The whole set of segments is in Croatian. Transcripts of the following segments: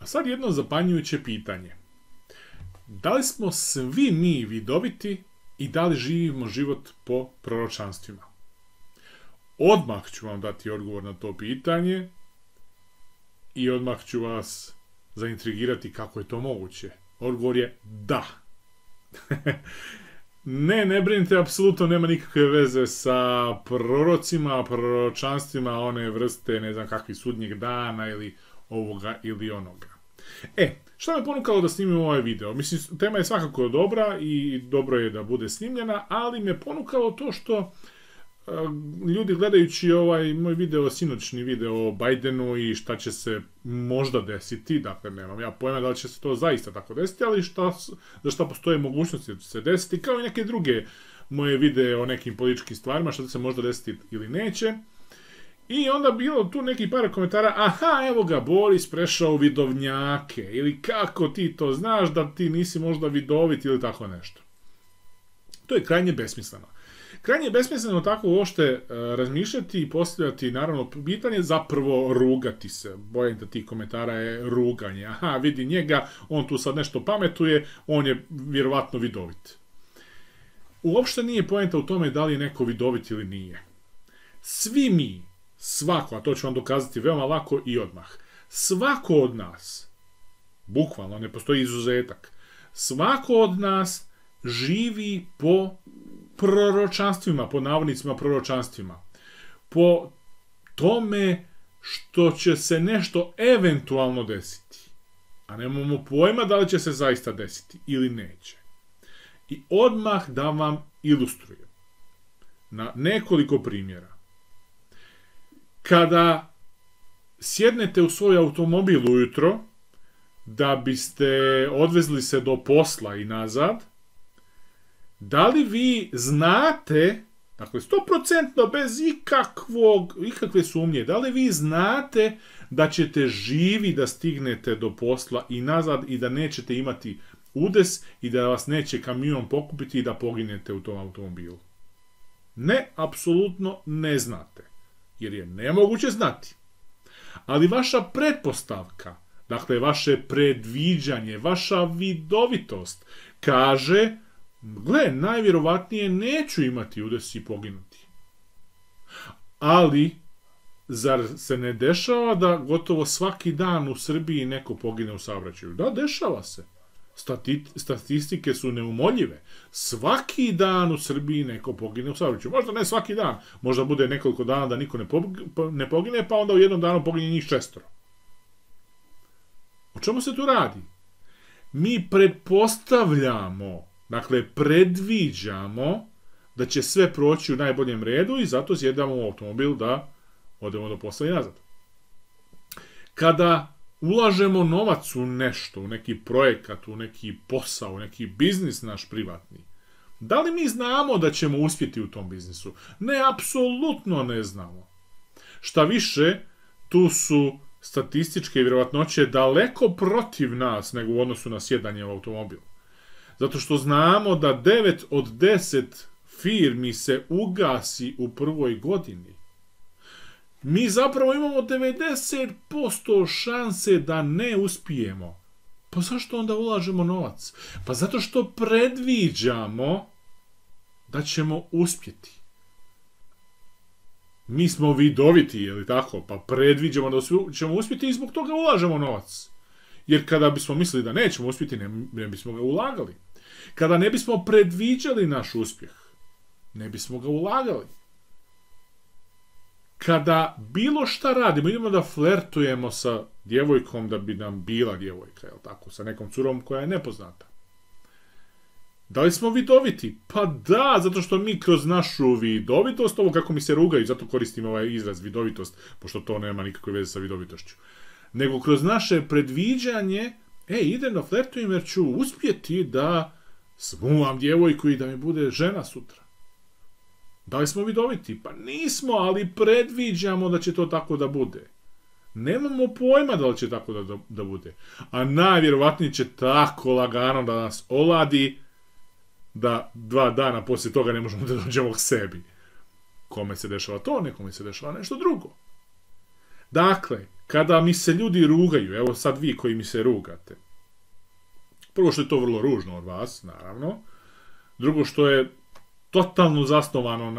A sad jedno zapanjujuće pitanje. Da li smo svi mi vidoviti i da li živimo život po proročanstvima? Odmah ću vam dati odgovor na to pitanje i odmah ću vas zaintrigirati kako je to moguće. Odgovor je da. Ne brinite, apsolutno nema nikakve veze sa prorocima, proročanstvima one vrste, ne znam kakvi sudnjeg dana ili ovoga ili onoga. Šta me ponukalo da snimim ovaj video? Mislim, tema je svakako dobra i dobro je da bude snimljena, ali me ponukalo to što ljudi gledajući ovaj moj video, sinoćni video o Bidenu i šta će se možda desiti, dakle nemam ja pojma da li će se to zaista tako desiti, ali za šta postoje mogućnosti da će se desiti, kao i neke druge moje videe o nekim političkim stvarima, šta će se možda desiti ili neće. I onda bilo tu neki par komentara, aha, evo ga, Boris prešao u vidovnjake, ili kako ti to znaš da ti nisi možda vidovit ili tako nešto. To je krajnje besmisleno. Krajnje je besmisleno tako uopšte razmišljati i postavljati, naravno, pitanje, zapravo rugati se. Bojim da tih komentara je ruganje. Aha, vidi njega, on tu sad nešto pametuje, on je vjerovatno vidovit. Uopšte nije poenta u tome da li je neko vidovit ili nije. Svi mi, svako, a to ću vam dokazati veoma lako i odmah, svako od nas, bukvalno, ne postoji izuzetak, svako od nas živi po proročanstvima, po navodnicima proročanstvima, po tome što će se nešto eventualno desiti, a nemamo pojma da li će se zaista desiti ili neće. I odmah da vam ilustrujem na nekoliko primjera. Kada sjednete u svoj automobil ujutro da biste odvezli se do posla i nazad, da li vi znate, dakle 100% bez ikakve sumnje, da li vi znate da ćete živi da stignete do posla i nazad i da nećete imati udes i da vas neće kamion pokupiti i da poginete u tom automobilu? Ne, apsolutno ne znate. Jer je nemoguće znati. Ali vaša pretpostavka, dakle vaše predviđanje, vaša vidovitost, kaže, gle, najvjerovatnije neću imati udes i poginuti. Ali, zar se ne dešava da gotovo svaki dan u Srbiji neko pogine u saobraćaju? Da, dešava se. Statistike su neumoljive. Svaki dan u Srbiji neko pogine u saobraćaju. Možda ne svaki dan. Možda bude nekoliko dana da niko ne pogine, pa onda u jednom danu pogine njih 6. O čemu se tu radi? Mi pretpostavljamo, dakle predviđamo da će sve proći u najboljem redu i zato sjedamo u automobil da odemo do posla i nazad. Kada ulažemo novac u nešto, u neki projekat, u neki posao, u neki biznis naš privatni, da li mi znamo da ćemo uspjeti u tom biznisu? Ne, apsolutno ne znamo. Šta više, tu su statističke vjerovatnoće daleko protiv nas nego u odnosu na sjedanje u automobil. Zato što znamo da 9 od 10 firmi se ugasi u prvoj godini. Mi zapravo imamo 90% šanse da ne uspijemo. Pa zašto onda ulažemo novac? Pa zato što predviđamo da ćemo uspjeti. Mi smo vidoviti, je li tako? Pa predviđamo da ćemo uspjeti i zbog toga ulažemo novac. Jer kada bismo mislili da nećemo uspjeti, ne bismo ga ulagali. Kada ne bismo predviđali naš uspjeh, ne bismo ga ulagali. Kada bilo šta radimo, idemo da flertujemo sa djevojkom da bi nam bila djevojka, jel tako, sa nekom curom koja je nepoznata. Da li smo vidoviti? Pa da, zato što mi kroz našu vidovitost, ovo kako mi se rugaju, zato koristim ovaj izraz vidovitost, pošto to nema nikakve veze sa vidovitošću, nego kroz naše predviđanje, idem da flertujem jer ću uspjeti da smuvam djevojku i da mi bude žena sutra. Da li smo vidoviti? Pa nismo, ali predviđamo da će to tako da bude. Nemamo pojma da li će tako da bude. A najvjerovatnije će tako lagano da nas oladi da 2 dana poslije toga ne možemo da dođemo k sebi. Kome se dešava to, nekome se dešava nešto drugo. Dakle, kada mi se ljudi rugaju, evo sad vi koji mi se rugate, prvo što je to vrlo ružno od vas, naravno, drugo što je totalno zasnovano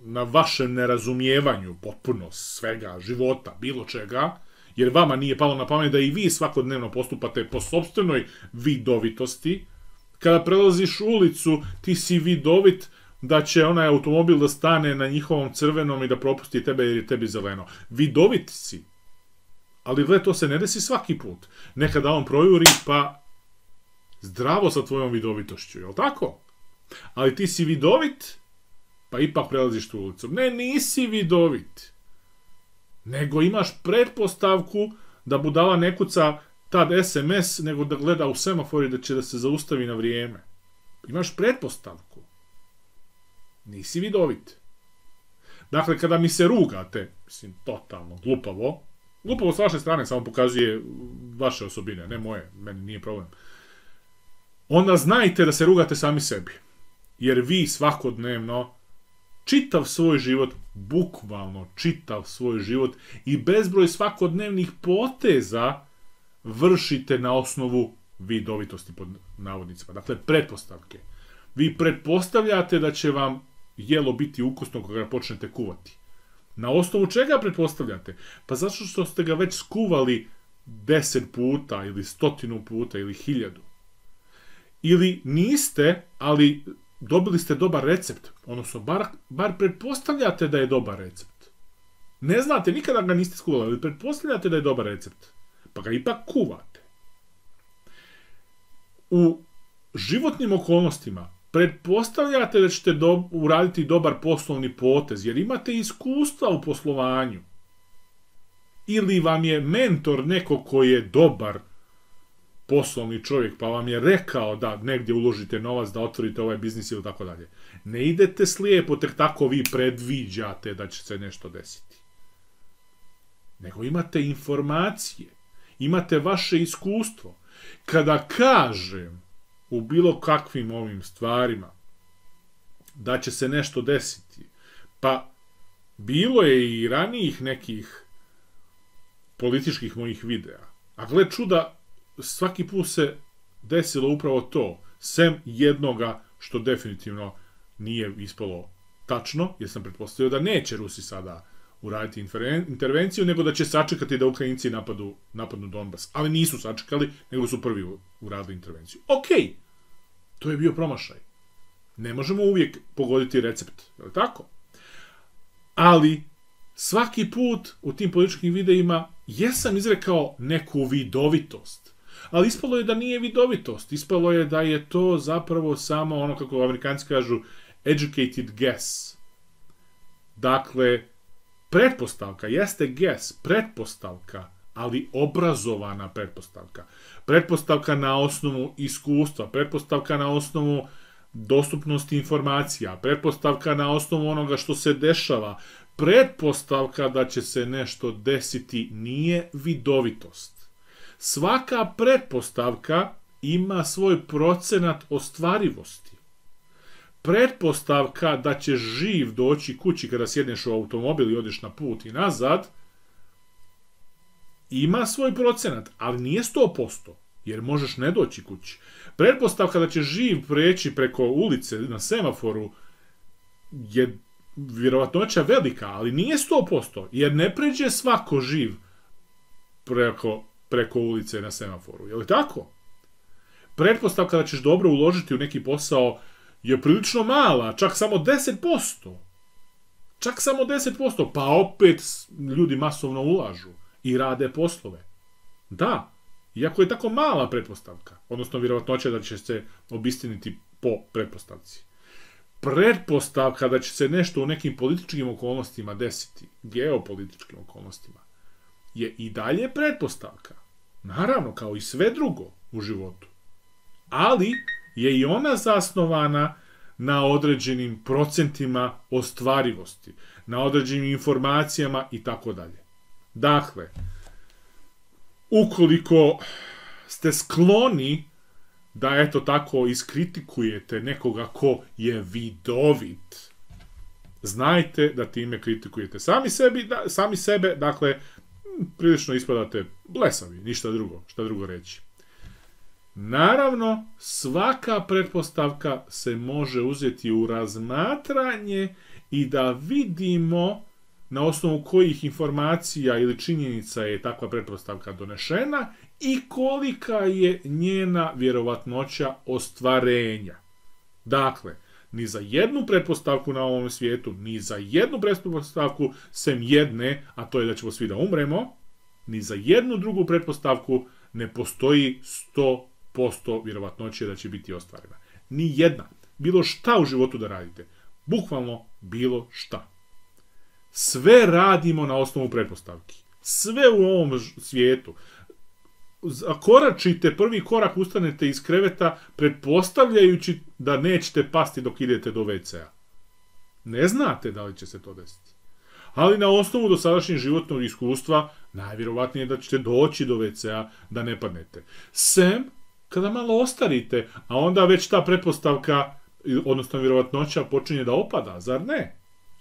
na vašem nerazumijevanju potpuno svega, života, bilo čega, jer vama nije palo na pamet da i vi svakodnevno postupate po sopstvenoj vidovitosti. Kada prelaziš ulicu, ti si vidovit da će onaj automobil da stane na njihovom crvenom i da propusti tebe jer je tebi zeleno. Vidovit si. Ali gle, to se ne desi svaki put. Nekada on projuri, pa zdravo sa tvojom vidovitošću, jel tako? Ali ti si vidovit, pa ipak prelaziš tu ulicu. Ne, nisi vidovit. Nego imaš pretpostavku da budala ne kuca tad SMS, nego da gleda u semafor i da će da se zaustavi na vrijeme. Imaš pretpostavku. Nisi vidovit. Dakle, kada mi se rugate, mislim, totalno glupavo s vaše strane samo pokazuje vaše osobine, ne moje, meni nije problem. Onda znajte da se rugate sami sebi. Jer vi svakodnevno čitav svoj život, bukvalno čitav svoj život i bezbroj svakodnevnih poteza vršite na osnovu vidovitosti pod navodnicima. Dakle, pretpostavke. Vi pretpostavljate da će vam jelo biti ukusno kada ga počnete kuvati. Na osnovu čega pretpostavljate? Pa zato što ste ga već skuvali 10 puta ili 100 puta ili 1000. Ili niste, ali dobili ste dobar recept. Odnosno, bar pretpostavljate da je dobar recept. Ne znate, nikada ga niste skuvali, ali pretpostavljate da je dobar recept. Pa ga ipak kuvate. U životnim okolnostima pretpostavljate da ćete uraditi dobar poslovni potez, jer imate iskustva u poslovanju. Ili vam je mentor neko koji je dobar poslovni čovjek, pa vam je rekao da negdje uložite novac, da otvorite ovaj biznis ili tako dalje. Ne idete slijepo, tek tako vi predviđate da će se nešto desiti. Nego imate informacije, imate vaše iskustvo. Kada kažem u bilo kakvim ovim stvarima da će se nešto desiti, pa bilo je i ranijih nekih političkih mojih videa, a gle čuda, svaki put se desilo upravo to, sem jednoga što definitivno nije ispalo tačno, jer sam pretpostavio da neće Rusi sada uraditi intervenciju, nego da će sačekati da Ukrajinci napadnu Donbas. Ali nisu sačekali, nego su prvi uradili intervenciju. Okej, to je bio promašaj. Ne možemo uvijek pogoditi recept, je li tako? Ali svaki put u tim političkim videima jesam izrekao neku vidovitost. Ali ispalo je da nije vidovitost. Ispalo je da je to zapravo samo ono, kako Amerikanci kažu, educated guess. Dakle, pretpostavka jeste guess, pretpostavka, ali obrazovana pretpostavka. Pretpostavka na osnovu iskustva, pretpostavka na osnovu dostupnosti informacija, pretpostavka na osnovu onoga što se dešava, pretpostavka da će se nešto desiti nije vidovitost. Svaka pretpostavka ima svoj procenat ostvarivosti. Pretpostavka da će živ doći kući kada sjedneš u automobil i odeš na put i nazad, ima svoj procenat, ali nije 100%, jer možeš ne doći kući. Pretpostavka da će živ preći preko ulice na semaforu je vjerovatnoća velika, ali nije 100%, jer ne pređe svako živ preko ulice na semaforu. Je li tako? Pretpostavka da ćeš dobro uložiti u neki posao je prilično mala, čak samo 10%. Čak samo 10%, pa opet ljudi masovno ulažu i rade poslove. Da, iako je tako mala pretpostavka, odnosno vjerovatnoća da će se obistiniti po pretpostavci. Pretpostavka da će se nešto u nekim političkim okolnostima desiti, geopolitičkim okolnostima, je i dalje pretpostavka. Naravno, kao i sve drugo u životu. Ali je i ona zasnovana na određenim procentima ostvarivosti, na određenim informacijama i tako dalje. Dakle, ukoliko ste skloni da eto tako iskritikujete nekoga ko je vidovit, znajte da time kritikujete sami sebe, dakle, prilično ispadate blesavi, ništa drugo, šta drugo reći. Naravno, svaka pretpostavka se može uzeti u razmatranje i da vidimo na osnovu kojih informacija ili činjenica je takva pretpostavka donešena i kolika je njena vjerovatnoća ostvarenja. Dakle, ni za jednu pretpostavku na ovom svijetu, ni za jednu pretpostavku sem jedne, a to je da ćemo svi da umremo, ni za jednu drugu pretpostavku ne postoji 100% vjerovatnoće da će biti ostvarena. Ni jedna. Bilo šta u životu da radite. Bukvalno bilo šta. Sve radimo na osnovu pretpostavki. Sve u ovom svijetu. Zakoračite, prvi korak ustanete iz kreveta pretpostavljajući da nećete pasti dok idete do WC-a. Ne znate da li će se to desiti. Ali na osnovu dosadašnjeg životnog iskustva najvjerovatnije je da ćete doći do WC-a da ne padnete. Sem kada malo ostarite, a onda već ta pretpostavka, odnosno vjerovatnoća počinje da opada, zar ne?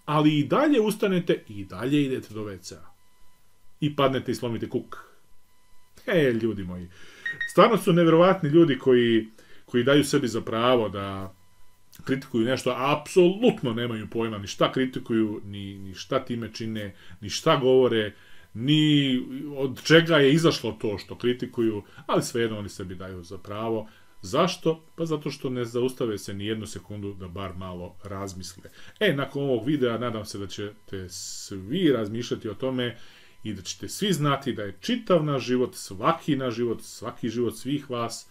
Ali i dalje ustanete i dalje idete do WC-a. I padnete i slomite kuk. Ljudi moji. Stvarno su nevjerovatni ljudi koji daju sebi za pravo da kritikuju nešto, a apsolutno nemaju pojma ni šta kritikuju, ni šta time čine, ni šta govore, ni od čega je izašlo to što kritikuju, ali svejedno oni sebi daju za pravo. Zašto? Pa zato što ne zaustave se ni jednu sekundu da bar malo razmisle. Nakon ovog videa nadam se da ćete svi razmišljati o tome i da ćete svi znati da je čitav naš život, svaki život svih vas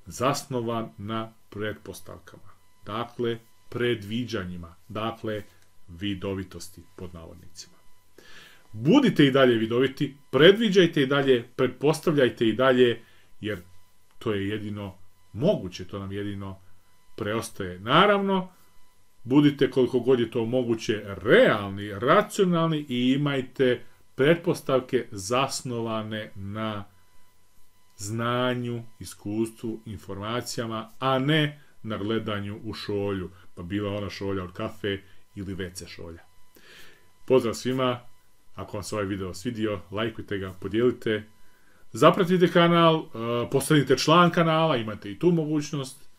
zasnovan na pretpostavkama. Dakle, predviđanjima. Dakle, vidovitosti pod navodnicima. Budite i dalje vidoviti, predviđajte i dalje, pretpostavljajte i dalje, jer to je jedino moguće, to nam jedino preostaje. Naravno, budite koliko god je to moguće realni, racionalni i imajte pretpostavke zasnovane na znanju, iskustvu, informacijama, a ne na gledanju u šolju, pa bila ona šolja od kafe ili WC šolja. Pozdrav svima, ako vam se ovaj video svidio, lajkujte ga, podijelite, zapratite kanal, postanite član kanala, imate i tu mogućnost.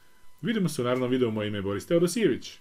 Vidimo se u narednom videu, moje ime je Boris Teodosijević.